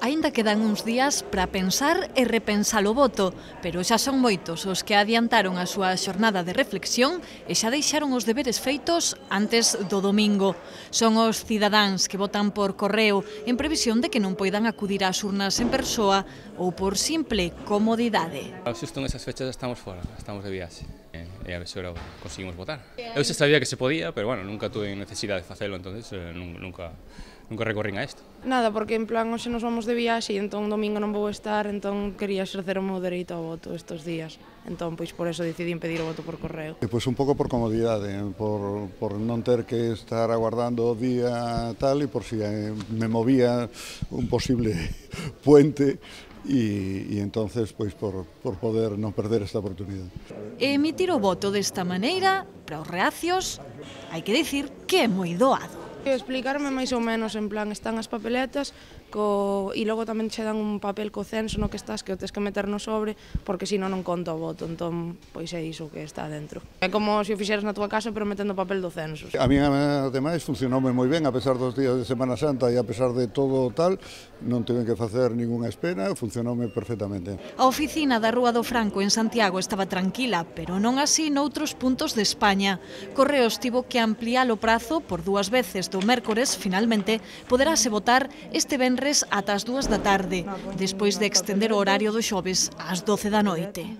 Aínda quedan uns días para pensar e repensar o voto, pero xa son moitos os que adiantaron a súa xornada de reflexión e xa deixaron os deberes feitos antes do domingo. Son os cidadáns que votan por correo en previsión de que non poidan acudir ás urnas en persoa ou por simple comodidade. Xusto en esas fechas estamos fora, estamos de viaxe e a ver se agora conseguimos votar. Eu xa sabía que se podía, pero bueno, nunca tuve necesidade de facelo, entonces nunca recorrín a isto. Nada, porque en plan hoxe nos vamos de viaxe e entón domingo non vou estar, entón quería exercer o meu dereito ao voto estes días. Entón, pois por eso decidí pedir o voto por correo. Pois un pouco por comodidade, por non ter que estar aguardando o día tal e por si me movía un posible puente e entonces pois por poder non perder esta oportunidade. Emitir o voto desta maneira, para os reacios, hai que dicir que é moi doado. Explicarme máis ou menos, en plan, están as papeletas e logo tamén che dan un papel co censo no que estás que o tes que meter no sobre porque senón non conta o voto, entón pois é iso que está dentro. É como se o fixeras na tua casa pero metendo o papel do censo. A mí ademais funcionoume moi ben a pesar dos días de Semana Santa e a pesar de todo tal, non tiven que facer ningunha espera, funcionoume perfectamente. A oficina da Rúa do Franco en Santiago estaba tranquila, pero non así noutros puntos de España. Correos tivo que ampliar o prazo por 2 veces do mércores, finalmente poderase votar este venres ata as 2 da tarde, despois de extender o horario do xoves ás 12 da noite.